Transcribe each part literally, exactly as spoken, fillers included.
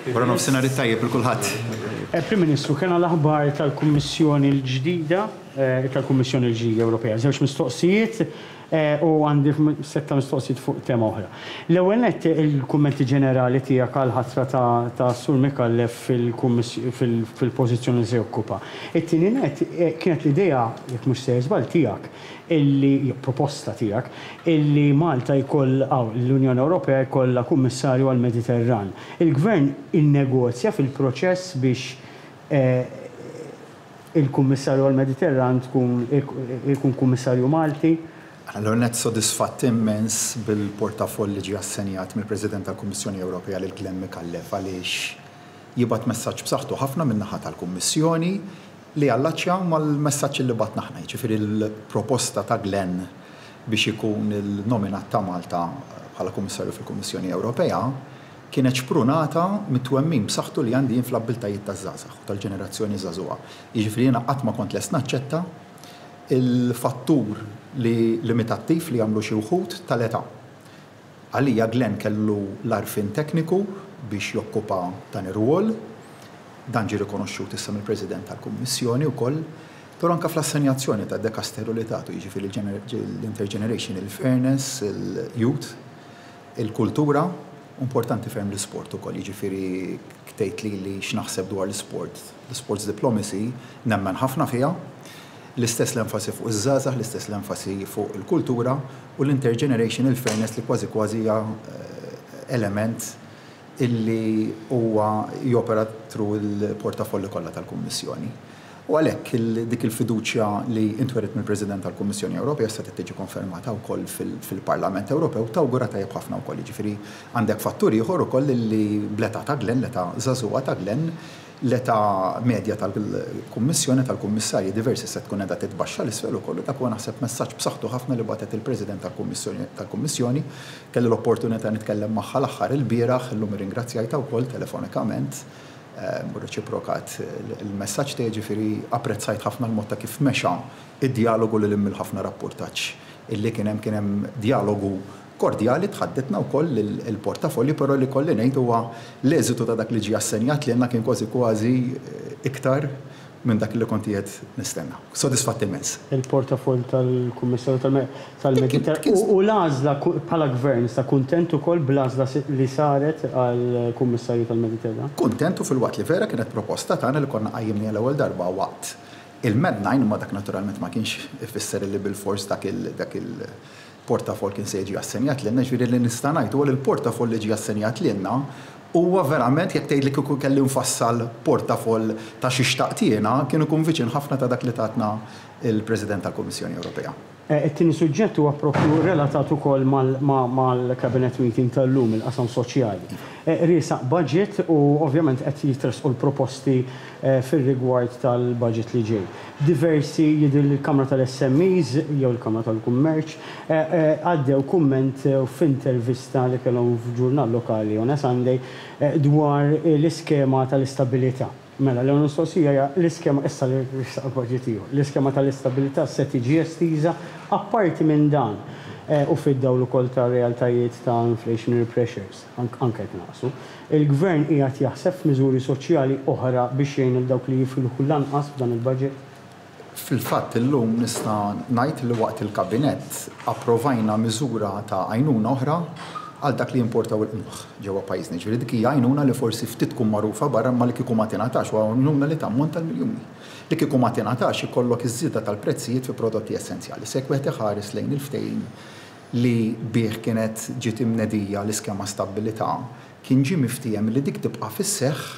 Wara nofsinhar it-tajjeb lil kulħadd. Eh, Prim Ministru, kena l-aħbar tal-Kummissjoni l-ġdida, eh, tal-Kummissjoni l-ġdida Ewropea. Żewġ mistoqsijiet eh, u għandi setta mistoqsijiet fuq tema oħra. L-ewwel nett, il-kummenti ġenerali tiegħek għal ħatra ta' Sur Micallef fil-pożizzjoni li se jokkupa. It-tieni nett, kienet l-idea, jekk mhux se żball tiegħek, illi proposta tiegħek illi Malta jkoll l-Unjoni Ewropea jkollha kummissarju għall-Mediterran. Il-Gvern innegozja fil-proċess biex eh, il-kummissarju għall-Mediterran tkun ikun kummissarju Malti? Allora, net sodisfatt immens bil-portafoll li ġie assenjat mill-President tal-Kummissjoni Ewropea lil Glenn Micallef, għaliex jibgħat messaġġ b'saħħtu ħafna min-naħa tal-Kummissjoni li jallaċċja mal-messaġġ li bgħatna aħna. Ġifieri l-proposta ta' Glenn biex ikun il-nominat ta' Malta bħala Kummissarju fil-Kummissjoni Ewropea kienet xprunata mit-twemmin b'saħħtu li għandi fl-abbiltajiet taż-żgħażagħ u tal-ġenerazzjoni żagħżugħa. Jiġifieri jiena qatt ma kont lest naċċetta il-fattur li limitattiv li għamlu xi wħud tal-età. Għalija Glenn kellu l-għarfien tekniku biex jokkupa dan ir-rwol, dan ġie rikonoxxut issa mill-President tal-Kummissjoni wkoll, però anke fl-assenjazzjoni ta' dekasteru li tagħtu, jiġifieri l-intergenerational fairness, il-youth, il-kultura, importanti ferm l-sport ukoll, jiġifieri ktejt li li x'naħseb dwar l-sport, l-sports diplomacy, nemmen ħafna fiha, l-istess l-enfasi fuq iż-żgħażagħ, l-istess l-enfasi fuq il-kultura u l-intergenerational fairness li kważi kważi hija eh, element illi huwa jopera through il-portafolli kollha tal-Kummissjoni. U għalhekk dik il-fiduċja li intweriet mill-President tal-Kummissjoni Ewropea se tiġi konfermata wkoll fil-Parlament Ewropew tawgura tajjeb ħafna wkoll. Jiġifieri għandek fattur ieħor ukoll li bl-età ta' Glenn, l-età żagħżugħa ta' Glenn, l-età medja tal-Kummissjoni tal-Kummissarji diversi se tkun qiegħda titbaxxa 'l isfel ukoll. Dak huwa, naħseb, messaġġ b'saħħtu ħafna li bagħtet il-President tal-Kummissjoni. Kelli l-opportunità nitkellem magħha l-aħħar il-bieraħ, illum irringrazzjajtha wkoll telefonikament u reċiprokat il-messaġġ tiegħi, ġifieri apprezzajt ħafna l-mod ta' kif mexa id-dialogu li lil ħafna rapportaġġ illi kien hemm kien hemm dialogu kordjali, tħadditna wkoll il-portafolli, però li kolli ngħid huwa l-eżitu ta' dak li ġie assenjat li għandna kien kważi kważi iktar minn dak li kont qiegħed nistenna. Sodisfatt immens. Il-portafoll tal-Kummissarju tal-Mediterran u l-għażla bħala gvern, sa kuntent ukoll bl-għażla li saret għall-Kummissarju tal-Mediterran? Kuntent, u filwaqt li vera kienet proposta tagħna li konna qajjimni l-ewwel darba waqt il-Med nine, ma dak naturalment ma kienx ifisser li bil-fors dak il dak il portafoll kien se jiġi assenjat lilna. Ġifieri li nista' ngħid huwa li l-portafoll li ġie assenjat lilna huwa verament, jekk tgħid li kieku kelli nfassal portafoll ta' xi xtaqt jiena, kien ikun viċin ħafna ta' dak li tatna il-President tal-Kummissjoni Ewropea. Eh, it-tieni suġġett huwa propju relatat ukoll mal-cabinet meeting tal-lum, il-qasam soċjali. Eh, riesaq budget u ovvjament qed jitresqu l-proposti eh, fir-rigward tal-budget li ġej. Diversi, jidher l-Kamra tal-S M Es jew il-Kamra tal-Kummerċ għaddew kumment f'intervista li kellhom f'ġurnal lokali on a Sunday dwar l-iskema tal-istabilità. Mela, l mistoqsija hija l-iskema, issa li budget ieħor, l-iskema tal-istabilità se tiġi estiża? Apparti minn dan, eh, u fid-dawl ukoll ta' realtajiet ta' inflationary pressures, anke jekk naqsu, il-gvern qiegħed jaħseb f'miżuri soċjali oħra biex jgħin dawk li jifilħu lanqas f'dan il-budget? Fil-fatt illum nista' ngħid li waqt il-kabinett approvajna miżura ta' għajnuna oħra għal dak li importaw il-qmuħ ġewwa pajjiżna. Ġifieri dik hija għajnuna li forsi ftit tkun magħrufa barra, ma li kieku ma tingħatax, u għajnuna li tammonta l-miljuni. Li kieku ma tingħatax, ikollok iż-żieda tal-prezzijiet fi prodotti essenzjali. Se wieħed iħares lejn il-ftehim li bih kienet ġiet imnedija l-iskema Stabbilità, kien ġie miftiehem li dik tibqa' fis-seħħ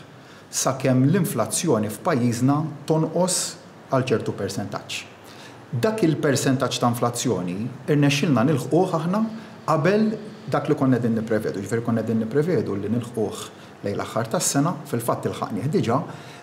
sakemm l-inflazzjoni f'pajjiżna tonqos għal ċertu persentaġġ. Dak il-persentaġġ ta' inflazzjoni irnexxilna nilħquh aħna qabel dak li konna qegħdin nipprevedu. Ġifieri konna qegħdin nipprevedu li nilħquh lejn l-aħħar tas-sena, fil-fatt ilħaqnieh diġà,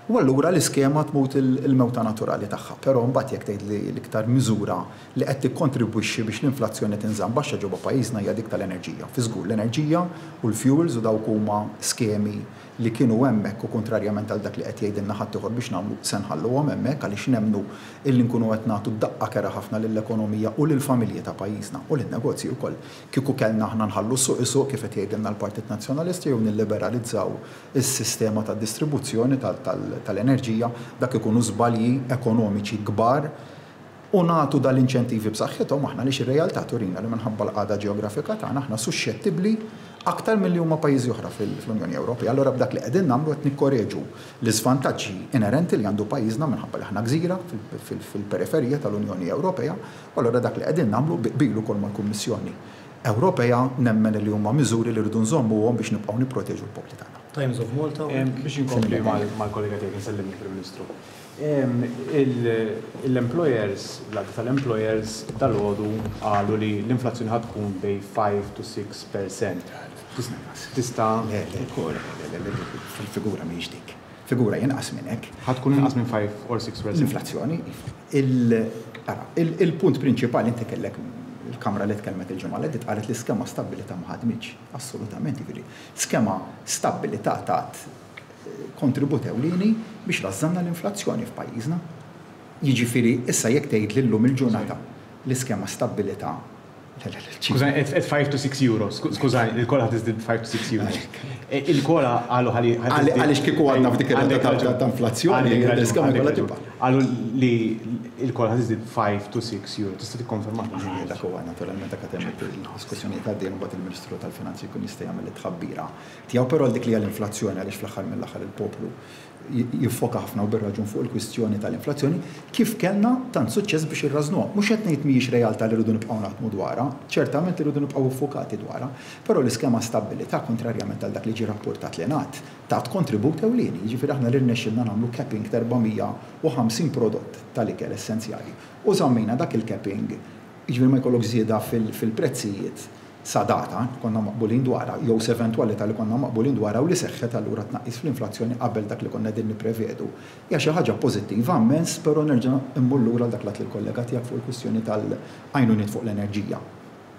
u allura l-iskema tmut il-mewta naturali tagħha. Però mbagħad jekk tgħid li l-iktar miżura li qed tikkontribwixxi biex l-inflazzjoni tinżamm baxxa ġewwa pajjiżna hija dik tal-enerġija. Fi żgur l-enerġija u l-fuels, u dawk huma skemi li kienu hemmhekk u kontrarjament għal dak li qed jgħidilna ħadd biex nagħmlu, se nħalluhom hemmhekk, għaliex nemmnu illi nkunu qed nagħtu daqqa kerha ħafna lill-ekonomija u lill-familji ta' pajjiżna u lin-negozji wkoll kieku kellna aħna nħallu suq isuq kif qed jgħidilna l-Partit Nazzjonalista jew nilliberalizzaw. nissabutaw is-sistema ta' distribuzzjoni tal-enerġija, dak ikunu żbalji ekonomiċi kbar u nagħtu dal-inċentivi b'saħħithom aħna li ir-realtà turina li minħabba l-qagħda ġeografika tagħna aħna suxxettibbli aktar milli huma pajjiżi oħra fl-Unjoni Ewropea. Allura b'dak li qegħdin nagħmlu qed nikkoreġu l-iżvantaġġi inerenti li għandu pajjiżna minħabba li aħna gżira fil-periferija tal-Unjoni Ewropea, u allura dak li qegħdin nagħmlu bilu kol mal-Kummissjoni Ewropea nemmen li huma miżuri li rridu nżommuhom biex nibqgħu nipproteġu l-popli tagħna. Times of Malta. Biex inkompli mal-kollega tiegħek, nsellimni Prim Ministru. L-employers, l-għaqda tal-employers dalgħodu qalu li l-inflazzjoni ħa tkun bejn five to six percent. Tista' Le, le, le, le, fil-figura mhijiex dik. Figura inqas minn hekk. Ħa tkun inqas minn five or six percent. L-inflazzjoni. Il-punt prinċipali, inti kellek il-Kamra li tkellmet il-ġimgħa li qalet li skema Stabbiltà ma ħadmitx. Assolutament, jiġifieri. Skema Stabbiltà tat kontribut ewlieni biex rażżanna l-inflazzjoni f'pajjiżna. Jiġifieri issa jekk tgħid lillum il-ġurnata l-iskema Stabbiltà Skużani, at five to six euros. Skużani, il-COLA ħa tiżdied five to six euros. Il-COLA qalu ħalli. Għaliex kieku għadna f'dik ir-rata ta' inflazzjoni, l-iskema kollha tibqa'. Qalu li il-COLA ħa tiżdied five to six euro. Tista' tikkonferma? Dak huwa naturalment dak hemm il-diskussjoni ta' din, mbagħad il-Ministru tal-Finanzi jkun jista' jagħmel it-tħabbira tiegħu, però dik li l-inflazzjoni, għaliex fl-aħħar mill-aħħar il-poplu jiffoka ħafna u bir-raġun fuq il-kwistjoni tal-inflazzjoni, kif kellna tant suċċess biex irrażnuha. Mhux qed ngħid mhijiex realtà li rridu nibqgħu naħdmu dwarha, ċertament irridu nibqgħu ffukati dwarha, però l-iskema Stabbiltà, kontrarjament għal dak li ġie rapportat li ngħad, tat kontribut ewlieni, jiġifieri aħna li rnexxilna nagħmlu capping ta' erba' mija u ħamsin prodott tal-ikel essenzjali. U żammejna dak il-capping, jiġifieri ma jkollok żieda fil-prezzijiet sa data konna maqbulin dwarha, jew eventwalità li konna maqbulin dwarha u li seħħet, allura tnaqqis fl-inflazzjoni qabel dak li konna din nipprevedu. Hija xi ħaġa pożittiva immens, però nerġa' immur lura dak li l-kollega tiegħek fuq il-kwistjoni tal-għajnuniet fuq l-enerġija.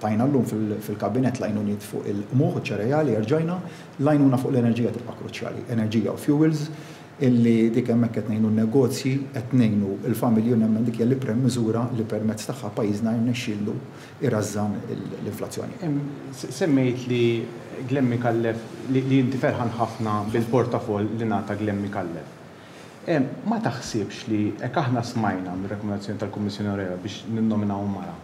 Tajna llum fil-kabinet l-għajnuniet fuq il-qmuħ u ċereali, erġajna, l-għajnuna fuq l-enerġija tibqa' kruċjali, enerġija u fuels, illi dik hemmhekk qed ngħinu n-negozji, qed ngħinu l-familji u nemmen dik hija l-iprem miżura li permezz tagħha pajjiżna jirnexxielu irażżan l-inflazzjoni. Semmejt li Glenn Micallef, li inti ferħan ħafna bil-portafoll li ngħata Glenn Micallef. Ma taħsibx li hekk aħna smajna mir-rekomendazzjoni tal-Kummissjoni Ewropea biex ninnominaw mara,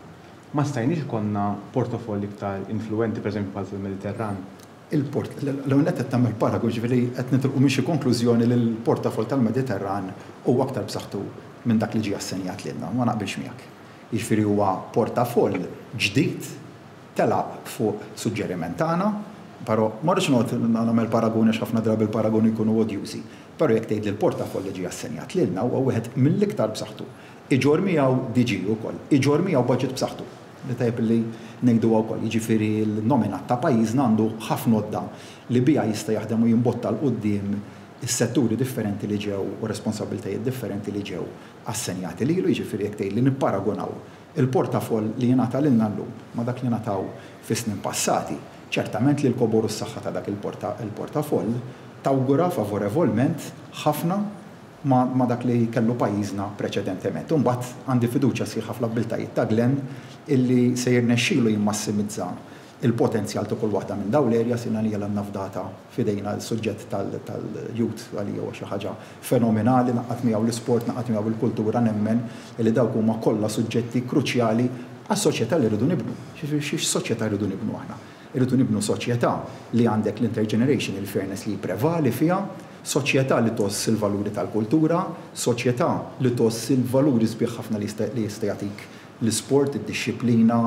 ma stajniex ikollna portafoll iktar influenti, pereżempju bħal fil-Mediterran? Il-port, l-ewwel qed tagħmel paragun, ġifieri qed nitilqu minn xi konklużjoni li l-portafoll tal-Mediterran huwa aktar b'saħħtu minn dak li ġie assenjat lilna, ma naqbilx miegħek. Jiġifieri huwa portafoll ġdid telaq fuq suġġeriment tagħna, però ma rridx noqgħod nagħmel paragun għax ħafna drabi il-paragoni jkunu odjużi. Però jekk tgħid li l-portafoll li ġie assenjat lilna huwa wieħed mill-iktar b'saħħtu. Iġorr miegħu D G ukoll, iġorr miegħu budget b'saħħtu li tajb li ngħidu wkoll, jiġifieri l-nominat ta' pajjiżna għandu ħafna għodda li biha jista' jaħdem u jimbotta 'l quddiem is-setturi differenti li ġew u responsabbiltajiet differenti li ġew assenjati lilu. Jiġifieri jekk tgħid li nipparagonaw il-portafoll li jingħata lilna llum ma' dak li ngħataw fis-snin passati, ċertament li l-kobor u s-saħħa ta' dak il-portafoll tawgura favorevolment ħafna ma, ma dak li kellu pajjiżna preċedentement. Imbagħad għandi fiduċja sħiħa fl-abbiltajiet ta' Glenn illi se jirnexxielu jimmassimizza il-potenzjal ta' kull waħda minn dawn l-areas. Sina li għandna fdata f'idejna l-suġġett tal-youth, għalija huwa xi ħaġa fenomenali, ngħaqqad miegħu l-isport, ngħaqqad miegħu l-kultura, nemmen li dawk huma kollha suġġetti kruċjali għas-soċjetà li rridu nibnu. Xi soċjetà rridu nibnu aħna? Irridu nibnu soċjetà li għandek l-intergenerational fairness li prevali fiha, soċjetà li tgħożż il-valuri tal-kultura, soċjetà li tgħożż il-valuri sbieħ ħafna li jista' jagħtik l-isport, id-dixxiplina,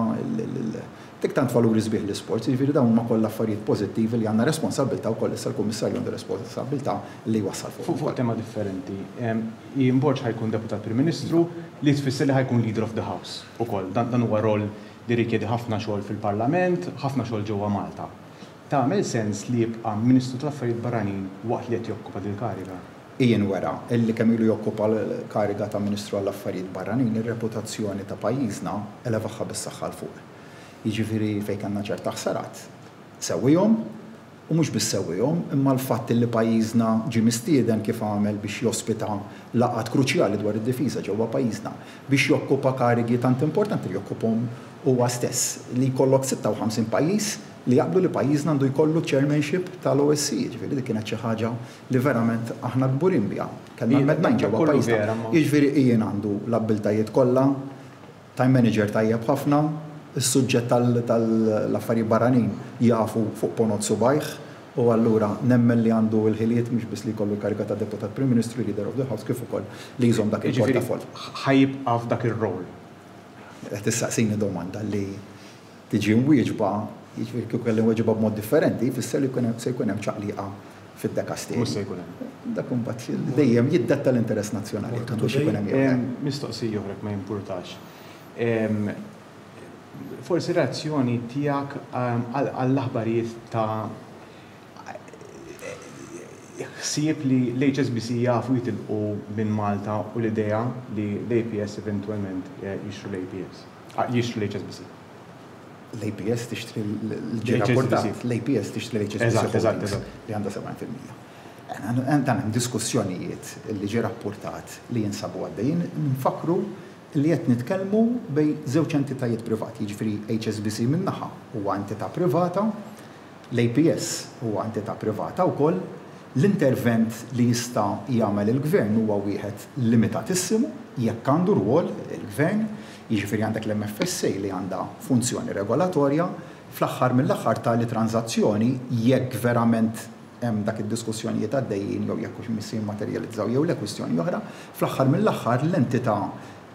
dik tant valuri sbieħ l-isport, jiġifieri dawn huma kollha affarijiet pożittivi li għandna responsabbiltà wkoll, issa l-Kummissarju għandu responsabbiltà li jwassal fuq. Fuq tema differenti, Ian Borg ħa jkun deputat Prim Ministru, li tfisser li ħa jkun leader of the house ukoll. Dan huwa rol li rikjedi ħafna xogħol fil-Parlament, ħafna xogħol ġewwa Malta. Tagħmel sens li jibqa' Ministru tal-Affarijiet Barranin waqt li qed jokkupa din kariga? Ian wera illi kemm ilu jokkupa l-kariga ta' Ministru għall-Affarijiet Barranin, ir-reputazzjoni ta' pajjiżna elevaha bis-saħħa 'l fuq. Jiġifieri fejn kellna ċerta ħsarat, sewwihom, u mhux biss sewwihom, imma l-fatt li pajjiżna ġie mistieden kif għamel biex jospita laqgħat kruċjali dwar id-difiża ġewwa pajjiżna, biex jokkupa karigi tant importanti li jokkupahom huwa stess, li jkollok sitta u ħamsin pajjiż li jaqblu li pajjiżna għandu jkollu chairmanship tal-O S C E, ġifieri dik kienet xi ħaġa li verament aħna kburin biha. Kellna mednajn ġewwa pajjiżna. Jiġifieri Ian għandu l-abbiltajiet kollha, time manager tajjeb ħafna, is-suġġett tal-affarijiet barranin jafu fuq ponot subgħajh, u allura nemmen li għandu l-ħiliet mhux biss li jkollu l-kariga ta' Deputat Prim Ministru, Leader of the House, kif ukoll li jżomm dak il-portafoll. Ħa jibqa' f'dak ir-rol. Qed tistaqsini domanda li tiġi mwieġba, jiġifieri kieku kelli nweġibha b'mod differenti, jfisser li se jkun hemm ċaqliqa fid-dekasteri. Mhux se jkun hemm. Dak imbagħad dejjem jiddetta l-interess nazzjonali biex ikun hemm. Mistoqsija oħra, ma jimpurtax. Forsi reazzjoni tiegħek għall-aħbarijiet ta' ħsieb li l-H S B C jafu jitilqu minn Malta u l-idea li l-A P S eventualment jixtru l-A P S, jixtru l-H S B C. L-A P S tixtri l-ġi l-A P S tixtri l-H S B C li għandha sebgħin fil-mija. Dan hemm diskussjonijiet li ġi rapportat li jinsabu għaddejjin. Nfakru li qed nitkellmu bejn żewġ entitajiet privati, jiġifieri H S B C min-naħa huwa entità privata, l-A P S huwa entità privata wkoll. L-intervent li jista' jagħmel il-gvern huwa wieħed limitatissimu, jekk għandu rwol il-gvern, jiġifieri għandek l-M F S A li għandha funzjoni regolatorja. Fl-aħħar mill-aħħar tali tranzazzjoni, jekk verament hemm dak id-diskussjonijiet għaddejjin jew jekk hux missi jimmaterjalizzaw jew le, kwistjoni oħra, fl-aħħar mill-aħħar l-entità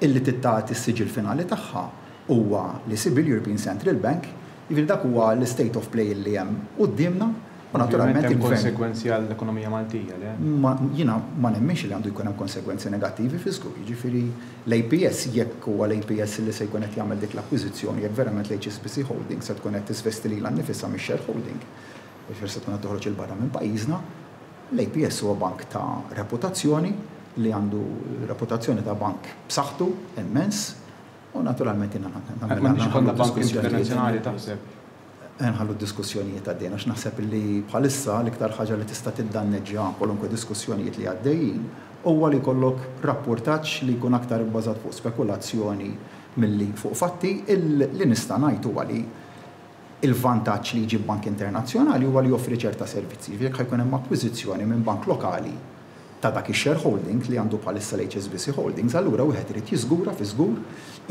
illi tagħti s-siġil finali tagħha huwa l-E C B, l-European Central Bank, jiġifieri dak huwa l-state of play li hemm quddiemna. U naturalment hemm konsegwenzi għall-ekonomija Maltija, le? Ma jiena ma nemminx li għandu jkun hemm konsegwenzi negattivi fi żgur. Jiġifieri l-A P S, jekk huwa l-A P S li se jkun qed jagħmel dik l-akkwiżizzjoni, jekk verament l-H S B C Holdings se tkun qed tisvesti lilha nnifisha mix-shareholding, jiġifieri se tkun qed toħroġ 'il barra minn pajjiżna, l-A P S huwa bank ta' reputazzjoni li għandu reputazzjoni ta' bank b'saħħtu immens u naturalment jiena M'għandix ikollna bank internazzjonali, taħseb? Nħallu diskussjonijiet għaddejjin, għax naħseb li bħalissa l-iktar ħaġa li tista' tiddanneġġja kwalunkwe diskussjonijiet li għaddejjin huwa li jkollok rapportaġġ li jkun aktar ibbażat fuq spekulazzjoni milli fuq fatti. Li nista' ngħid huwa li il-vantaġġ li jġib bank internazzjonali huwa li joffri ċerta servizzi. Jekk ħa jkun hemm akkwiżizzjoni minn bank lokali ta' dak ix-shareholding li għandu bħalissa l-H S B C Holdings, allura wieħed irid jiżgura fi żgur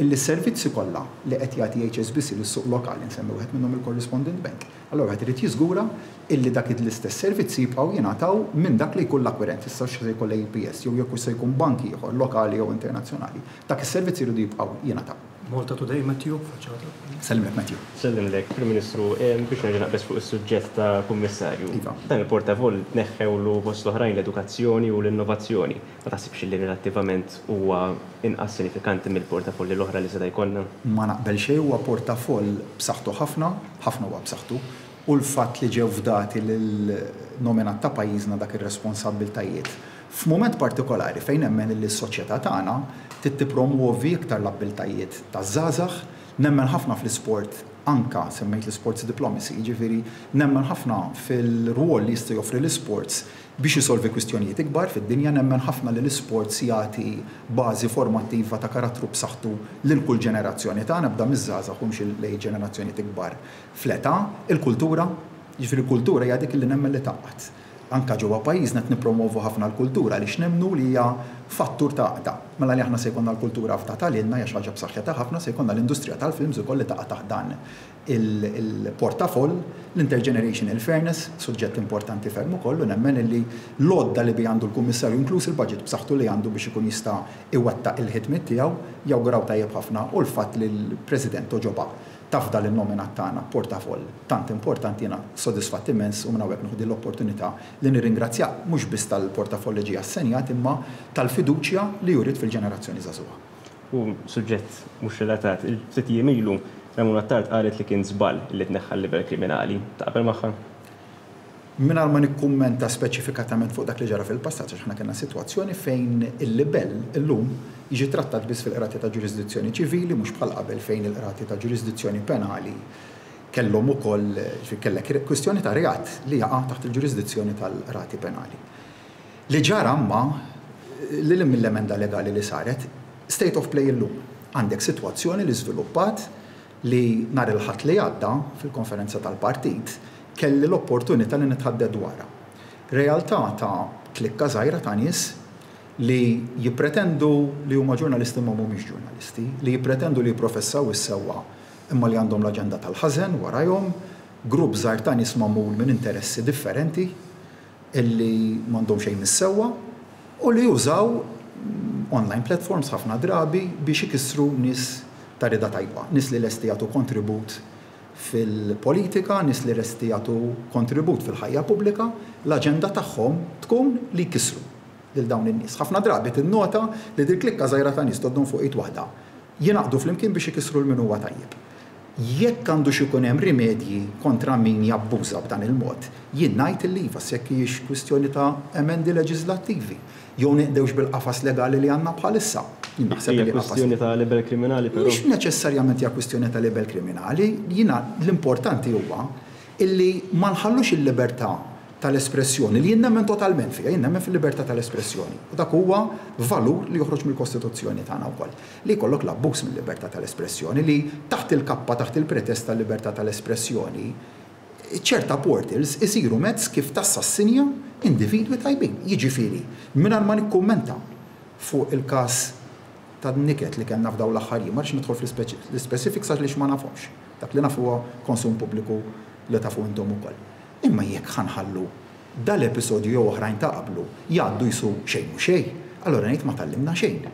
illi s-servizzi kollha li qed jagħti H S B C lis-suq lokali, nsemmi wieħed minnhom il-Correspondent Bank, allura wieħed irid jiżgura illi dak l-istess servizzi jibqgħu jingħataw minn dak li jkun l-akkwirent, issa se jkun l-A P S jew jekk se jkun bank ieħor lokali jew internazzjonali. Dak is-servizzi jridu jibqgħu jingħataw. Malta Today, Matthew, faċċata. Sellimlek, Matthew. Sellimlek, Prim Ministru, biex nerġa' naqbeż fuq is-suġġett ta' kummissarju. Iva. Dan il-portafoll tneħħewlu fost l-oħrajn l-edukazzjoni u l-innovazzjoni. Ma taħsibx li relattivament huwa inqas sinifikanti mill-portafolli l-oħra li seta' jkollna? Ma naqbel xejn, huwa portafoll b'saħħtu ħafna, ħafna huwa b'saħħtu, u l-fatt li ġew fdati lil-nominat ta' pajjiżna dak ir-responsabbiltajiet f'mument partikolari fejn nemmen li s-soċjetà tagħna trid tippromuovi iktar l-abbiltajiet taż-żgħażagħ, nemmen ħafna fl-isport, anka semmejt l-sports diplomacy, jiġifieri nemmen ħafna fil-rwol li jista' joffri l-sports biex jisolvi kwistjonijiet ikbar fid-dinja, nemmen ħafna li l-sports jagħti bażi formattiva ta' karattru b'saħħtu lil kull ġenerazzjoni tagħna, bda miż-żgħażagħ u mxi lejn ġenerazzjonijiet ikbar fl-età, il-kultura, jiġifieri kultura hija dik li nemmen li tgħaqqad. Anka ġewwa pajjiżna qed nippromovu ħafna l-kultura li nemmnu li hija fattur ta' għaqda. Mela li aħna se jkollna l-kultura fdata lilna hija xi ħaġa b'saħħitha ħafna, se jkollna l-industrija tal-films ukoll li taqa' taħt dan il-portafoll, l-intergenerational fairness, suġġett importanti ferm ukoll, u nemmen li l-għodda li bi għandu l-kummissarju, inkluż il-budget b'saħħtu li għandu biex ikun jista' iwettaq il-ħidmiet tiegħu, jawguraw tajjeb ħafna, u l-fatt li l-President għoġobha tafda l-nominat tagħna portafoll tant importanti, jiena sodisfatt immens, u minn hawnhekk nieħu l-opportunità li nirringrazzja mhux biss tal-portafoll li ġie assenjat imma tal-fiduċja li jurid fil-ġenerazzjoni żagħżugħa. U suġġett mhux relatat, il-ftit jiem ilu Ramona Attard qalet li kien żball li tneħħa l-libell kriminali. Taqbel magħha? Mingħajr ma nikkummenta speċifikatament fuq dak li ġara fil-passat, għax aħna kellna sitwazzjoni fejn il-libell illum jiġi trattat biss fil-qrati ta' ġurisdizzjoni ċivili, mhux bħal qabel fejn il-qrati ta' ġurisdizzjoni penali kellhom ukoll, kellek kwistjoni ta' reat li jaqa' taħt il-ġurisdizzjoni tal-qrati penali. Li ġara imma li mill-emenda legali li saret, state of play illum, għandek sitwazzjoni li żviluppat li nhar il-Ħadd li għadda fil-konferenza tal-partit kelli l-opportunità li nitħaddet dwarha. Realtà ta' klikka żgħira ta' nies li jippretendu li huma ġurnalisti ma mhumiex ġurnalisti, li jippretendu li jipprofessaw is-sewwa imma li għandhom l-aġenda tal-ħażen warajhom, grupp żgħir ta' nies magħmul minn interessi differenti illi m'għandhom xejn mis-sewwa u li jużaw online platforms ħafna drabi biex ikissru nies ta' rida tajba, nies li lesti jagħtu kontribut fil-politika, nies li lesti jagħtu kontribut fil-ħajja pubblika, l-aġenda tagħhom tkun li jkissru lil dawn in-nies. Ħafna drabi tinnota li dil klikka żgħira ta' nies toddhom fuq id waħda. Jingħaqdu flimkien biex ikissru l min huwa tajjeb. Jekk għandu xi jkun hemm rimedji kontra min jabbuża b'dan il-mod, jien ngħid illi iva, jekk hijiex kwistjoni ta' emendi leġislattivi, jew neqdewx bil-qafas legali li għandna bħalissa. Jien naħseb Hija li qafas kwistjoni ta' libel kriminali però. Mhux neċessarjament hija kwistjoni ta' libel kriminali, jiena l-importanti huwa illi ma nħallux il-libertà tal-espressjoni li jien nemmen totalment fiha, jien nemmen fil-libertà tal-espressjoni. U dak huwa valur li joħroġ mill-Kostituzzjoni tagħna wkoll. Li jkollok l-abbuż mill-libertà tal-espressjoni li taħt il-kappa, taħt il-pretest tal-libertà tal-espressjoni, ċerta portals isiru mezz kif tassassinja individwi tajbin. Jiġifieri, mingħajr ma nikkummenta fuq il-każ ta' niket li kellna f'dawn l-aħħar jiem, ma rridx nidħol fl-specifics għax ma nafhomx. Dak li nafu huwa konsum pubbliku li tafu intom ukoll. Imma jekk ħa nħallu dal-episodju jew oħrajn ta' qablu jgħaddu jisu xejn u xejn, allora ngħid ma tgħallimna xejn.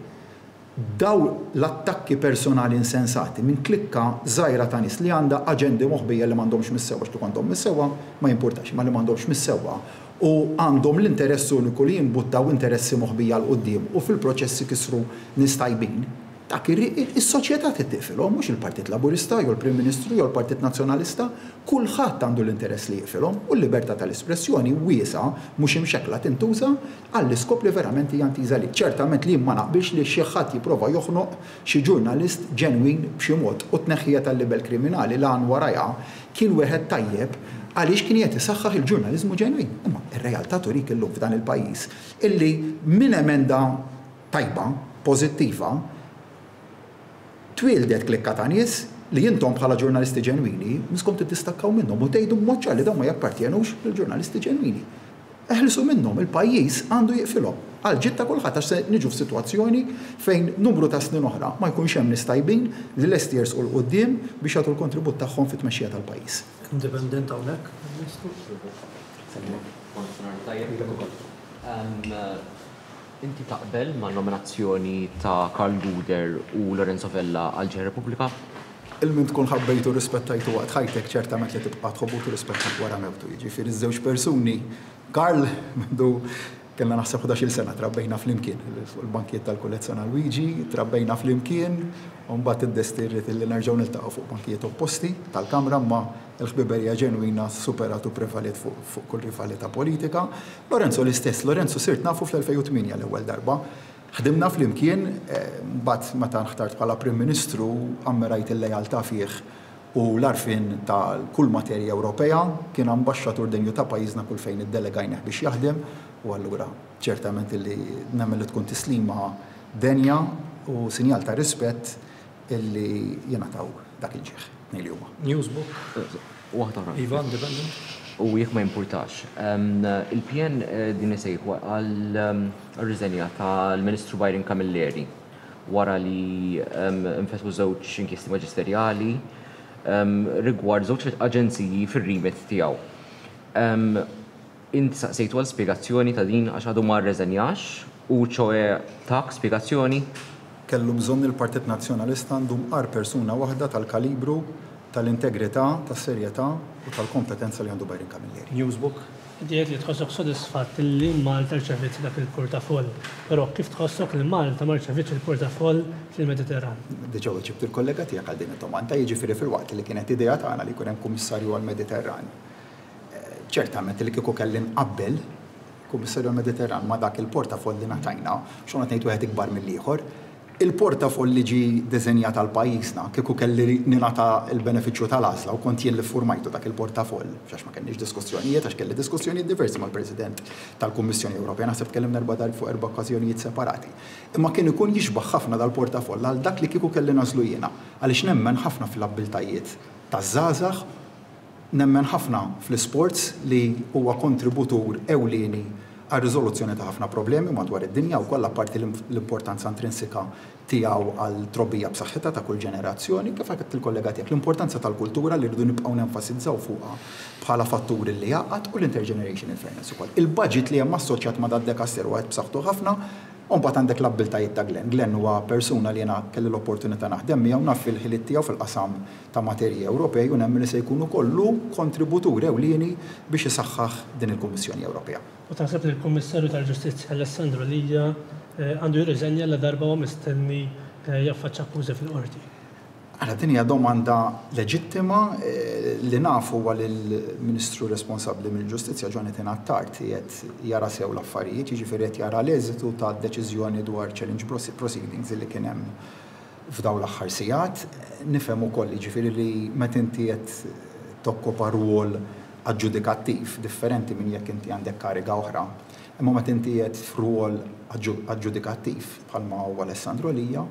Daw l-attakki personali insensati minn klikka żgħira ta' nies li għandha aġendi moħbija li m'għandhomx mis-sewwa, x'tu għandhom mis-sewwa ma jimpurtax, ma li m'għandhomx mis-sewwa u għandhom l-interess uniku li jimbuttaw interessi moħbija 'l quddiem u fil-proċessi kisru nies tajbin. Dak is-soċjetà tittifilhom, mhux il-Partit Laburista jew il-Prim Ministru jew il-Partit Nazzjonalista, kulħadd għandu l-interess li jiqfilhom u l-libertà tal-espressjoni wiesa mhux imxekkla tintuża għall-iskop li verament hija intiża li. Ċertament li ma naqbilx li xi ħadd jipprova joħnoq xi ġurnalist ġenwin b'xi mod u tneħħija tal-libel kriminali l għan warajha kien wieħed tajjeb għaliex kien qed isaħħaħ il-ġurnaliżmu ġenwin. Imma ir-realtà turik illum f'dan il-pajjiż illi minn emenda tajba, pożittiva, twildet klikka ta' nies li jintom bħala ġurnalisti ġenwini miskom tiddistakkaw minnhom u tgħidu b'mod ċar li dawn ma jappartjenux lill-ġurnalisti ġenwini. Eħlisu minnhom, il-pajjiż għandu jiqfilhom. Għal ġid ta' kulħadd għax se niġu f'sitwazzjoni fejn numru ta' snin oħra ma jkunx hemm nies tajbin li lesti jersqu 'l quddiem biex jagħtu l-kontribut tagħhom fit-tmexxija tal-pajjiż. Independent hawnhekk, Ministru? Inti taqbel ma' nominazzjoni ta' Karl Gouder u Lorenzo Vella għal Ġeħ Repubblika? Il-min tkun ħabbejtu rispettajtu waqt ħajtek ċertament li tibqa' tħobbu u rispettak wara mewtu. Jiġifieri iż-żewġ persuni, Karl mindu kellna naħseb ħdax-il sena trabbejna flimkien fuq il-bankijiet tal-Kulleġġ San Luigi, trabbejna flimkien, u mbagħad id-destin ried li nerġgħu niltaqgħu fuq bankijiet opposti tal-Kamra, imma l-ħbiberija ġenwina superat u prevaliet fuq, fuq kull rivalità politika. Lorenzo l-istess, Lorenzo sirt nafu fl-elfejn u tmienja l-ewwel darba. Ħdimna flimkien, eh, mbagħad meta nħtart bħala Prim Ministru ammirajt il-lealtà fih u l-arfin ta' kull materja Ewropea, kien ambaxxatur denju ta' pajjiżna kull fejn iddelegajnih biex jaħdem, u allura ċertament illi nemmen li tkun tislima denja u sinjal ta' rispett illi jingħataw dak il-ġieħ tnejn li huma. Newsbook. Waħda oħra. Iva, independent. U jekk ma jimpurtax. Ehm, Il-P N, eh, din isejħu għal, ehm, riżenja tal-Ministru Byron Camilleri wara li, ehm, infetħu żewġ inkjesti maġisterjali, ehm, rigward żewġ aġenziji fir-remit tiegħu. Ehm, inti saqsejtu għal spjegazzjoni ta' din għax għadu ma rreżenjax u ċoe tak spjegazzjoni? Kellu bżonn il-Partit Nazzjonalista għandu mqar persuna waħda tal-kalibru, tal-integrità, tas-serjetà u tal-kompetenza li għandu Byron Camilleri. Newsbook. Inti qed li tħossok sodisfatt li Malta rċeviet dak il-portafoll, però kif tħossok li Malta ma rċevitx il-portafoll fil-Mediterran? Diġà weġibt il-kollega tiegħek għal din id-domanda, jiġifieri fil-waqt li kienet idea tagħna li jkun hemm kummissarju għall-Mediterran. Ċertament li kieku kelli nqabbel kummissarju għall-Mediterran ma dak il-portafoll li ngħatajna, xogħol ngħid wieħed ikbar mill-ieħor, Il-portafoll li ġie deżenjat għal pajjiżna, kieku kelli ningħata l-benefiċċju tal-għażla u kont jien li ffurmajtu dak il-portafoll, għax ma kellniex diskussjonijiet, għax kelli diskussjonijiet diversi mal-President tal-Kummissjoni Ewropea, naħseb tkellimna erba' darb fuq erba' okkażjonijiet separati. Imma kien ikun jixbaħ ħafna dal-portafoll għal dak li kieku kelli nagħżlu jiena, għaliex nemmen ħafna fl-abbiltajiet taż-żgħażagħ, nemmen ħafna fl-isports li huwa kontributur ewlieni għal riżoluzzjoni ta' ħafna problemi madwar id-dinja u kollha, apparti l-importanza intrinsika tiegħu għal trobbija b'saħħitha ta' kull ġenerazzjoni, kif għedt il-kollega tiegħek, l-importanza tal-kultura li rridu nibqgħu nenfasizzaw fuqha bħala fatturi li jgħaqqad, u l-intergenerational fairness ukoll. Il-budget li hemm assoċjat ma' dad-dekasteru għad b'saħħtu ħafna, u mbagħad għandek l-abbiltajiet ta' Glenn. Glenn huwa persuna li jiena kelli l-opportunità naħdem miegħu, naf il-ħiliet tiegħu fil-qasam ta' materji Ewropej u nemmen li se jkunu kollu kontributur ewlieni biex isaħħaħ din il-Kummissjoni Ewropea. U taħseb li l-Kummissarju tal-Ġustizzja Alessandro Lia għandu jirriżenja la darba huwa mistenni jaffaċċa akkużi fil-qorti? Għala, din hija domanda leġittima. Li nafu huwa li l-Ministru responsabbli mill-Ġustizzja Jonathan Attard qiegħed jara sew l-affarijiet, jiġifieri qed jara l-eżitu ta' deċiżjoni dwar challenge proceedings li kien hemm f'dawn l-aħħar sigħat. Nifhem ukoll jiġifieri li meta inti qed tokkopa rwol aġġudikattiv differenti minn jekk inti għandek kariga oħra. Imma meta inti qed f'rwol aġġudikattiv bħalma huwa Alessandro Lia,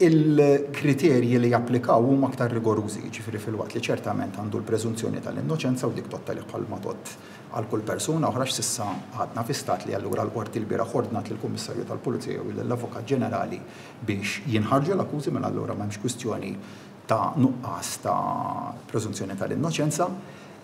il-kriterji li japplikaw huma aktar rigorużi, jiġifieri filwaqt li ċertament għandu l-preżunzjoni tal-innoċenza u dik tgħodd bħalma tgħodd għal kull persuna oħra, s'issa għadna fi stat li allura l-qorti l-bieraħ ordnat lill-Kummissarju tal-Pulizija u lill-Avukat Ġenerali biex jinħarġu l-akkużi, mela allura m'hemmx kwistjoni ta' nuqqas ta' preżunzjoni tal-innoċenza.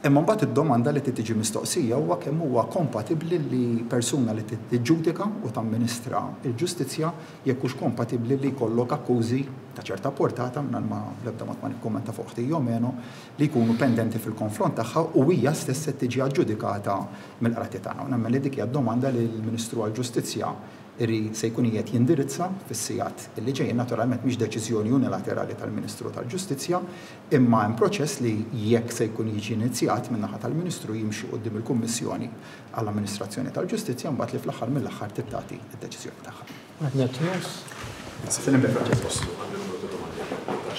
Imma mbagħad id-domanda li tiġi mistoqsija huwa kemm huwa kompatibbli li persuna li tiġġudika u tamministra l-ġustizzja jekk hux kompatibbli li jkollok akkużi ta' ċerta portata, mingħajr ma l-ebda mod ma nikkummenta fuq ħtija jew meno, li jkunu pendenti fil-konfront tagħha u hija stess se tiġi aġġudikata mill-qrati tagħna. U nemmen li dik hija d-domanda li l-Ministru għall-Ġustizzja iri se jkun qiegħed jindirizza fis-sigħat li ġejjin. Naturalment mhix deċiżjoni unilaterali tal-Ministru tal-Ġustizzja, imma hemm proċess li jekk se jkun jiġi inizjat min-naħa tal-Ministru jimxi quddiem il-Kummissjoni għall-Amministrazzjoni tal-Ġustizzja, mbagħad li fl-aħħar mill-aħħar tittati d-deċiżjoni tagħha. Net News. Sellem lil Francesco.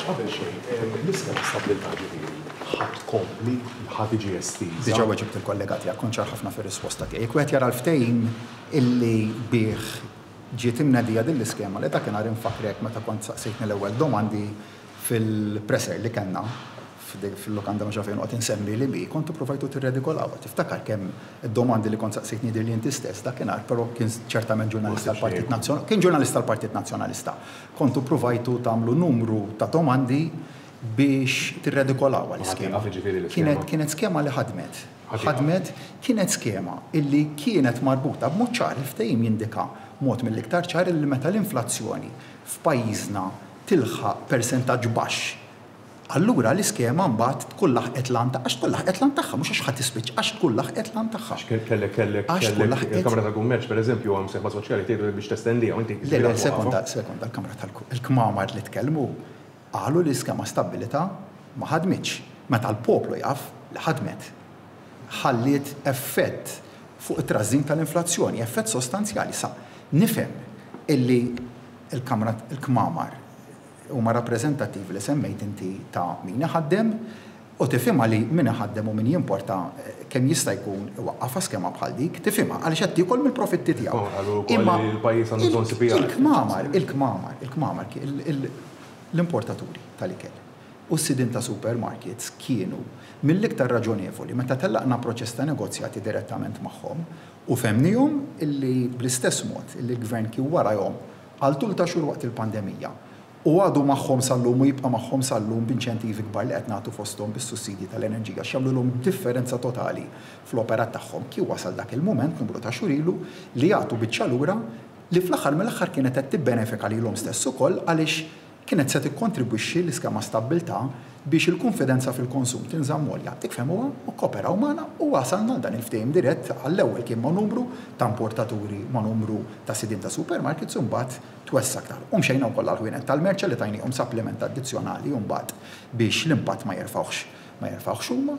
Qabel xejn, l-iskema stabbiltà ġifieri ħa tkompli, ħa tiġi estiża? Diġà weġibt il-kollega tiegħek, kont ċar ħafna fir-risposta tiegħi. Jekk wieħed jara l-ftehim illi bih ġiet imnedija din l-iskema, li dakinhar infakrek meta kont saqsejtni l-ewwel domandi fil-presser li kellna fil-lukanda ma fejn qed insemmi li bi, kontu provajtu tirredikolaw. Tiftakar kemm id-domandi li kont saqsejtni dir li inti stess dakinhar, però kien ċertament ġurnalista tal-Partit Nazzjonalista, kien ġurnalista tal-Partit Nazzjonalista. Kontu provajtu tagħmlu numru ta' domandi biex tirredikolaw l-iskema. Kienet kienet skema li ħadmet. Ħadmet, kienet skema illi kienet marbuta b'mod ċar, il-ftehim jindika mod mill-iktar ċar illi meta l-inflazzjoni f'pajjiżna tilħaq persentaġġ baxx, allura l-iskema mbagħad tkun laħqet l-għan tagħha, għax tkun laħqet l-għan tagħha, mhux għax ħadd tispiċċa, għax tkun laħqet l-għan tagħha. Kellek, kellek, kellek, il-Kamra tal-Kummerċ pereżempju għam sejħa soċjali tgħidu biex testendiha u inti. Le, le, sekonda, sekonda, il-Kamra tal-Kmamar li tkellmu qalu li l-iskema stabbilità ma ħadmitx. Meta l-poplu jaf li ħadmet, ħalliet effett fuq it-trażżin tal-inflazzjoni, effett sostanzjali. Sa nifhem illi il-Kamra il-Kmamar huma rappreżentattivi li semmejt inti ta' min iħaddem, u tifhimha li min iħaddem u min jimporta kemm jista' jkun iwaqqafha skema bħal dik, tifhimha għaliex qed tiekol mill-profitti tiegħu. Imma il-pajjiż għandu bżonn C P I. Il-kmamar, il-kmamar, il-kmamar, l-importaturi tal-ikel u s-sidien ta' supermarkets kienu mill-iktar raġonevoli meta tellaqna proċess ta' negozjati direttament magħhom u femnihom illi bl-istess mod illi l-gvern kien warahom għal tul ta' xhur waqt il-pandemija u għadu magħhom sal-lum u jibqa' magħhom sal-lum b'inċentivi kbar li qed nagħtu fosthom bis-sussidji tal-enerġija x'jagħmlulhom differenza totali fl-operat tagħhom. Kien wasal dak il-mument numru ta' xhur ilu li jagħtu biċċa lura li fl-aħħar mill-aħħar kienet qed tibbenefika lilhom stess ukoll għaliex kienet se tikkontribwixxi l-iskema stabbiltà biex il-konfidenza fil-konsum tinżamm għolja. Dik fehmuha u kooperaw magħna u wasalna dan il-ftehim dirett. Għall-ewwel kien ma' numru ta' importaturi, ma' numru ta' sidien ta' supermarkets, u mbagħad twessa aktar. U mxejna wkoll għall-ħwienet tal-merċa li tajnihom supplement addizzjonali u mbagħad biex l-impatt ma jerfgħuhx, ma jerfgħuhx huma.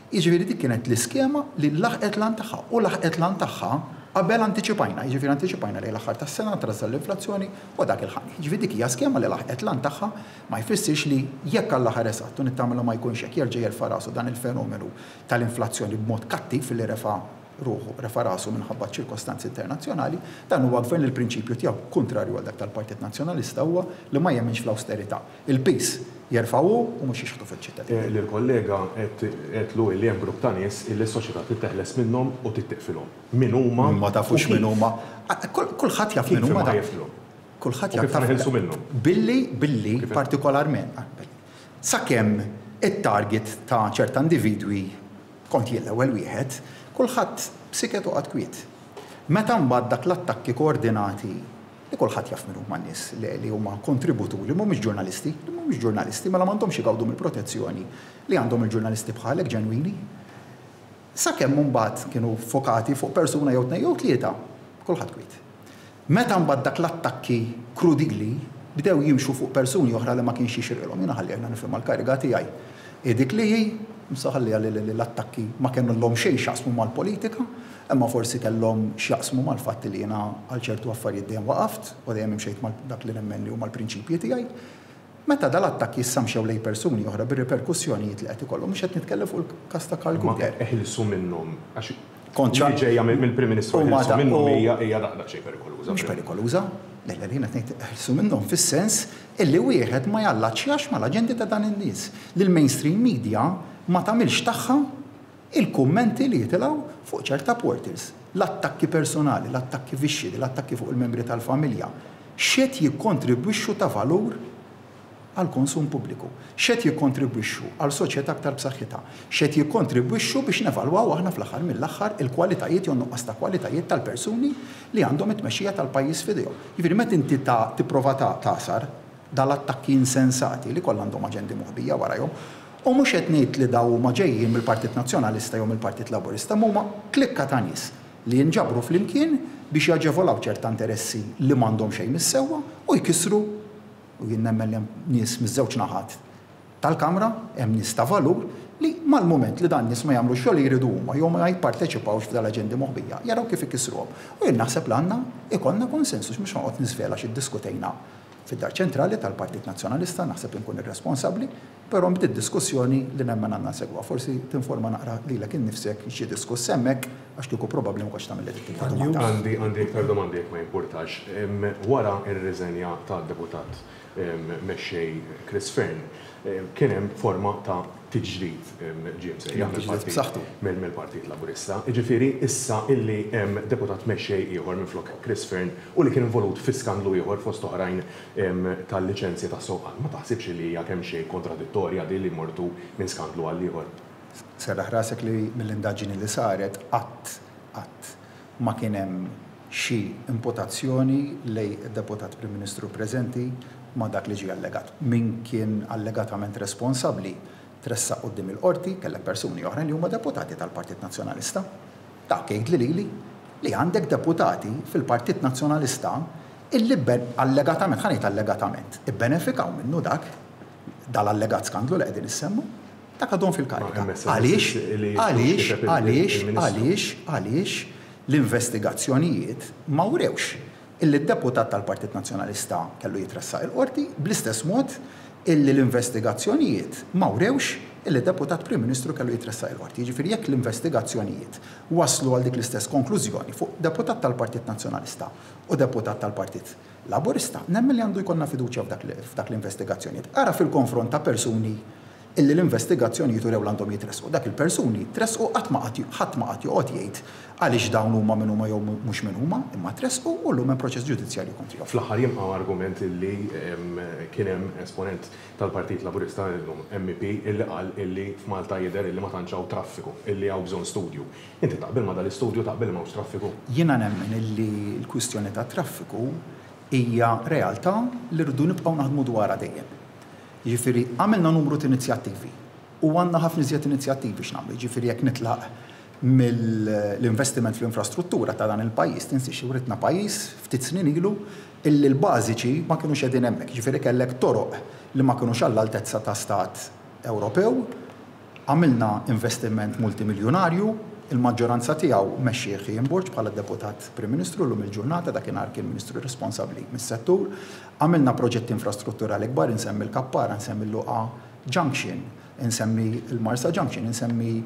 Jiġifieri dik kienet l-iskema li laħqet l-għan tagħha u laħqet l-għan tagħha Qabel antiċipajna, jiġifieri antiċipajna li l-aħħar tas-sena trażżan l-inflazzjoni u dak il-ħani. Jiġifieri dik hija skema li laħqet l-għan tagħha, ma jfissirx li jekk Alla ħares qatt u nittama ma jkunx hekk jerġa' jerfa' rasu dan il-fenomenu tal-inflazzjoni b'mod kattiv li refa' ruħu, refa' rasu minħabba ċirkostanzi internazzjonali, dan huwa gvern li l-prinċipju tiegħu kontrarju għal dak tal-Partit Nazzjonalista huwa li ma jemminx fl-awsterità. Il-pis jerfgħu u mhux jixħtu fiċ-ċittadini. Lill-kollega għedtlu li hemm grupp ta' nies illi s-soċjetà titteħles minnhom u tittiqfilhom. Min huma? Ma tafux min huma. Kulħadd jaf min huma. Kulħadd jaf. Kif neħilsu minnhom? Billi, billi, partikolarment, sakemm it-target ta' ċerta individwi kont jien l-ewwel wieħed, kulħadd b'siket u qagħad kwiet. Meta mbagħad dak l-attakki koordinati li kulħadd jaf min huma n-nies li huma kontributuri, mhumiex ġurnalisti, li mhumiex ġurnalisti, mela m'għandhomx igawdu mill-protezzjoni li għandhom il-ġurnalisti bħalek ġenwini. Sakemm mbagħad kienu fokati fuq persuna jew tnejn jew tlieta, kulħadd kwiet. Meta mbagħad dak l-attakki krudili bdew jimxu fuq persuni oħra li ma kienx jixirqilhom, jiena ħalli nifhem l-kariga tiegħi. Dik li hi msaħalli li l-attakki ma kellhom xejn x'jaqsmu mal-politika, imma forsi kellhom x'jaqsmu mal-fatt li jiena għal ċertu affarijiet dejjem waqaft u dejjem imxejt mal dak li nemmen li huma l-prinċipji tiegħi. Meta dal-attakki issa mxew lejn persuni oħra bir-riperkussjonijiet li qed ikollhom, mhux qed nitkellem fuq il-każ ta' Karl Gouder. Eħilsu minnhom għax kont ġejja mill-Prim Ministru eħilsu minnhom hija hija daqsxejn perikoluża. Mhux perikoluża. Le, le, jiena qed ngħid eħilsu minnhom fis-sens illi wieħed ma jallaċċjax mal-aġendi ta' dan in-nies. Li l-mainstream media ma tagħmilx tagħha il-kummenti li jitilgħu fuq ċerta portals. L-attakki personali, l-attakki vixxidi, l-attakki fuq il-membri tal-familja. X'qed jikkontribwixxu ta' valur għal konsum pubbliku, x'qed jikkontribwixxu għal soċjetà aktar b'saħħitha, x'qed jikkontribwixxu biex nevalwaw aħna fl-aħħar mill-aħħar il-kwalitajiet jew nuqqas ta' kwalitajiet tal-persuni li għandhom it-tmexxija tal-pajjiż f'idejhom. Jiġifieri meta inti tipprova tagħsar dal-attakki insensati li kollha għandhom aġendi moħbija warajhom, u mhux qed ngħid li daw huma ġejjin mill-Partit Nazzjonalista jew mill-Partit Laburista, ma huma klikka ta' nies li jinġabru flimkien biex jaġevolaw ċerta interessi li m'għandhom xejn mis-sewwa u jkissru. U jien nemmen li hemm nies miż-żewġ naħat tal-Kamra, hemm nies ta' valur li mal-mument li dan nies ma jagħmlu xogħol li jridu huma jew ma jipparteċipawx f'dal-aġendi moħbija, jaraw kif ikissruhom. U jien naħseb li għandna ikollna konsensus mhux noqgħod niżvela xi ddiskutejna fid-dar ċentrali tal-Partit Nazzjonalista, naħseb inkun irresponsabbli, però bdiet diskussjoni li nemmen għandna nsegwa. Forsi tinforma naqra lilek innifsek xi diskuss hemmhekk għax kieku probabbli ma kontx tagħmel dik ta' domanda. Għandi għandi iktar domandi jekk ma jimpurtax. Wara r-riżenja tad-deputat mexxej Chris Fearne, kien hemm forma ta' tiġdid ġie msejjaħ mill-Partit Laburista. Jiġifieri issa illi hemm deputat mexxej ieħor minflok Chris Fearne u li kien involut fi skandlu ieħor fost oħrajn tal-liċenzji tas-sewqan. Ma taħsibx li hija kemm xejn kontradittorja din li mortu minn skandlu għal ieħor? Serraħ rasek li mill-indaġini li saret qatt qatt ma kien hemm xi imputazzjoni lejn id-deputat Prim Ministru preżenti ma dak li ġie allegat. Min kien allegatament responsabbli tressaq quddiem il-qorti, kellek persuni oħrajn li huma deputati tal-Partit Nazzjonalista. Dak jgħid li lili li għandek deputati fil-Partit Nazzjonalista illi allegatament, ħa ngħid allegatament, ibbenefikaw minnu dak dal-allegat skandlu li qegħdin issemmu, dak għadhom fil-karika. Għaliex, għaliex, għaliex, għaliex, għaliex l-investigazzjonijiet ma wrewx illi d-deputat tal-Partit Nazzjonalista kellu jitressaq il-qorti, bl-istess mod illi l-investigazzjonijiet ma wrewx illi d-deputat Prim Ministru kellu jitressaq il-qorti. Jiġifieri jekk l-investigazzjonijiet waslu għal dik l-istess konklużjoni fuq deputat tal-Partit Nazzjonalista u deputat tal-Partit Laburista, nemmen li għandu jkollna fiduċja f'dak l-investigazzjonijiet. Ara fil-konfront ta' persuni illi l-investigazzjonijiet urew l-għandhom jitressqu. Dak il-persuni tressqu qatt ma ħadd ma qatt joqgħod jgħid għaliex dawn huma min huma jew mhux min huma, imma tressqu u llum hemm proċess ġudizzjarju kontrihom. Fl-aħħar jibqa' argument illi kien hemm esponent tal-Partit Laburista illum M E P illi qal illi f'Malta jidher illi ma tantx hawn traffiku, illi hawn bżonn studju. Inti taqbel ma dal-istudju, taqbel ma hawnx traffiku? Jiena nemmen illi l-kwistjoni ta' traffiku hija realtà li rridu nibqgħu naħdmu dwarha dejjem. Jiġifieri għamilna numru ta' inizjattivi u għandna ħafna iżjed inizjattivi x'nagħmlu. Jiġifieri jekk nitlaq mill-investiment fl-infrastruttura ta' dan il-pajjiż, tinsiex writna pajjiż ftit snin ilu illi l-bażiċi ma kinux qegħdin hemmhekk. Jiġifieri kellek toroq li ma kinux għall-altezza ta' stat Ewropew, għamilna investiment multimiljonarju Il-maġġoranza tiegħu mexxih Ian Borg bħala deputat Prim Ministru llum il-ġurnata, dakinhar kien Ministru responsabbli mis-settur. Għamilna proġetti infrastrutturali kbar, insemmi l-Kappara, insemmi l-Luqa Junction, insemmi l-Marsa Junction, insemmi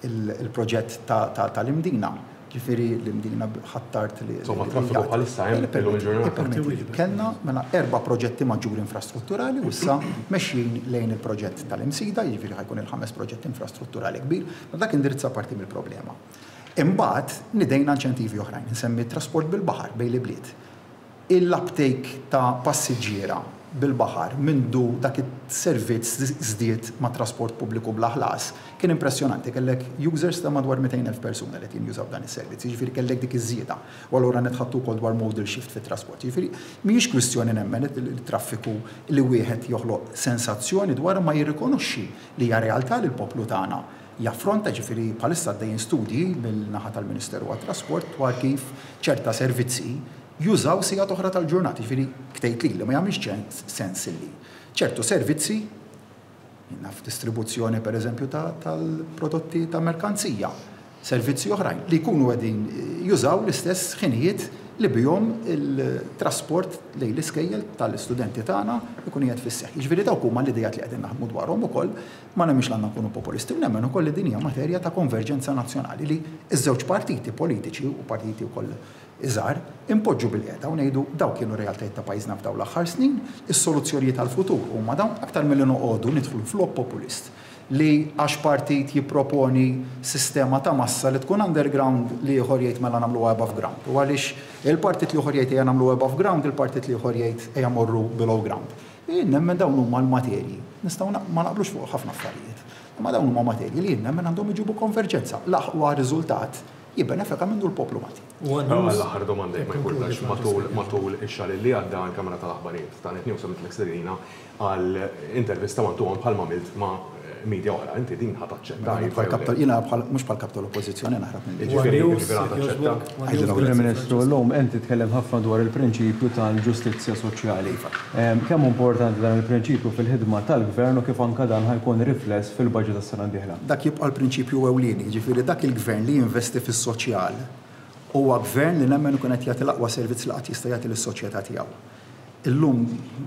il-proġett tal-Imdina. Ġifieri l-Imdina ħattart li. Insomma, traffiku bħalissa hemm illum il-ġurnata. Kellna mela erba' proġetti maġġuri infrastrutturali u issa mexjin lejn il-proġett tal-Imsida, jiġifieri ħa jkun il-ħames proġett infrastrutturali kbir, ma dak indirizza parti mill-problema. Imbagħad nidejna inċentivi oħrajn, insemmi trasport bil-baħar bejn l-ibliet. Il-uptake ta' passiġġiera bil-baħar mindu dak it-servizz żdied ma' trasport pubbliku bla ħlas kien impressjonanti, kellek users ta' madwar mitejn elf persuna li kien jużaw dan is-servizz, jiġifieri kellek dik iż-żieda. U allura nitħattu wkoll dwar modal shift fit-trasport. Jiġifieri mhijiex kwistjoni nemmen il-traffiku li wieħed joħloq sensazzjoni dwar ma jirrikonoxxi li hija realtà li l-poplu tagħna jaffronta, ġifieri bħalissa għaddejjin studji mill-naħa tal-Ministeru għat-Trasport dwar kif ċerta servizzi jużaw sigħat oħra tal-ġurnata, ġifieri ktejt li ma jagħmilx sens illi ċertu servizzi, naf distribuzzjoni per eżempju tal-prodotti ta' merkanzija, servizzi oħrajn li jkunu qegħdin jużaw l-istess ħinijiet li bihom il-trasport lejn l-iskejjel tal-istudenti tagħna jkun qiegħed fis-seħħ. Jiġifieri dawk huma l-idejat li qegħdin naħdmu dwarhom ukoll, ma nemmx l-għandna nkunu populisti, u nemmen ukoll li din hija materja ta' konverġenza nazzjonali li ż-żewġ partiti politiċi u partiti wkoll iżgħar impoġġu bil-qiegħda u ngħidu dawk kienu realtajiet ta' pajjiżna f'dawn l-aħħar snin, is-soluzzjonijiet tal-futur huma dawn, aktar milli noqogħdu nidħlu f'logħob populist li għax partit jipproponi sistema ta' massa li tkun underground li ieħor jgħid mela nagħmluha above ground. U għaliex il-partit li ieħor jgħid ejja nagħmlu above ground, il-partit li ieħor jgħid ejja morru below ground. Jien nemmen dawn huma l-materji. Nistgħu ma naqblux fuq ħafna affarijiet. Imma dawn huma materji li jien nemmen għandhom iġibu konverġenza. L-aqwa riżultat jibbenefika minnu l-poplu Malti. L-aħħar domanda jekk ma jkunx matul matul ix-xahar li għadda l-Kamra tal-Aħbarijiet ta' Net News għamilt l-stedina għal intervista one to one bħalma għamilt ma' media oħra. Inti din ħa taċċetta? Jiena mhux bħal kap tal-Oppożizzjoni naħrab minn. Ġifieri ħa taċċetta. Prim Ministru, llum inti tkellem ħafna dwar il-prinċipju tal-ġustizzja soċjali. Kemm importanti dan il-prinċipju fil-ħidma tal-gvern u kif anka dan ħa jkun rifless fil-budget tas-sena d-dieħla? Dak jibqa' l-prinċipju ewlieni, ġifieri dak il-gvern li jinvesti fis-soċjal huwa gvern li nemmen ikun qed jagħti l-aqwa servizz li qatt jista' jagħti lis-soċjetà tiegħu. Illum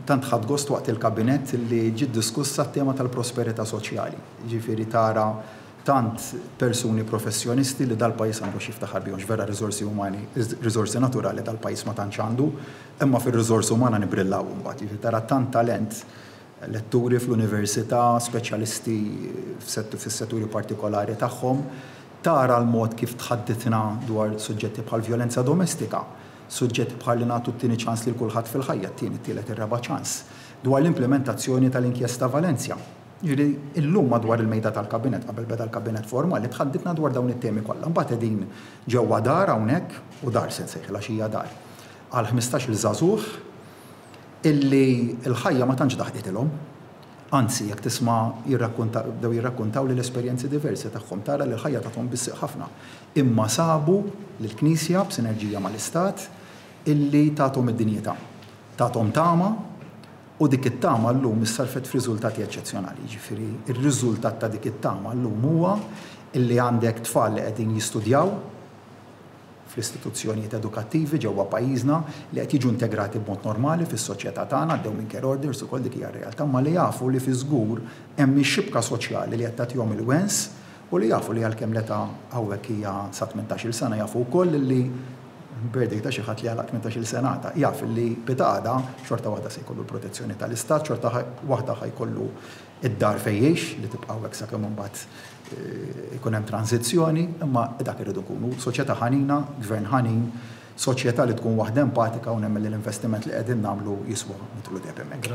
tant ħadt gost waqt il-kabinett li ġiet diskussa t-tema tal-prosperità soċjali. Ġifieri tara tant persuni professjonisti li dal-pajjiż għandu x'jiftaħar bihom, vera riżorsi umani, riżorsi naturali dal-pajjiż ma tantx għandu, imma fir-riżorsi umana nibrillaw imbagħad. Ġifieri tara tant talent, letturi fl-università, speċjalisti fis-setturi partikolari tagħhom, tara l-mod kif tħadditna dwar suġġetti bħal vjolenza domestika, suġġetti bħal li nagħtu t-tieni ċans lil kulħadd fil-ħajja, t-tieni, t-tielet, ir-raba' ċans, dwar l-implementazzjoni tal-inkjesta Valencia. Ġifieri illum madwar il-mejda tal-kabinet, qabel beda l-kabinet formali, tħadditna dwar dawn it-temi kollha. Mbagħad qegħdin ġewwa dar hawnhekk, u dar se nsejħilha għax hija dar, għal ħmistax-il żagħżugħ illi l-ħajja ma tantx daħqitilhom. Anzi, jekk tisma' jirrakkunta, bdew jirrakkuntaw li l-esperjenzi diversi tagħhom, tara li l-ħajja tagħhom bissieq ħafna. Imma sabu lill-Knisja b'sinerġija mal-Istat illi tagħthom id-dinjità, tagħthom tama, u dik it-tama llum issarfet f'riżultati eċċezzjonali. Ġifieri ir-riżultat ta' dik it-tama llum huwa illi għandek tfal li qegħdin jistudjaw fl-istituzzjonijiet edukattivi ġewwa pajjiżna, li qed jiġu integrati b'mod normali fis-soċjetà tagħna, għaddew minn care orders ukoll, dik hija r-realtà, ma li jafu li fi żgur hemm ix-xibka soċjali li qed tagħtihom il-wens, u li jafu li għalkemm l-età hawnhekk hija sa tmintax-il sena, jafu wkoll li birthday ta' xi ħadd li għalaq tmintax-il sena ta' jaf li pitgħada xorta waħda se jkollu l-protezzjoni tal-istat, xorta waħda ħa jkollu id-dar fejn jgħix li tibqa' hawnhekk sakemm imbagħad ikun hemm tranzizzjoni, imma dak irridu nkunu soċjetà ħanina, gvern ħanin, soċjetà li tkun waħda empatika, u nemmen li l-investiment li qegħdin nagħmlu jiswa nidħlu dejjem hemmhekk.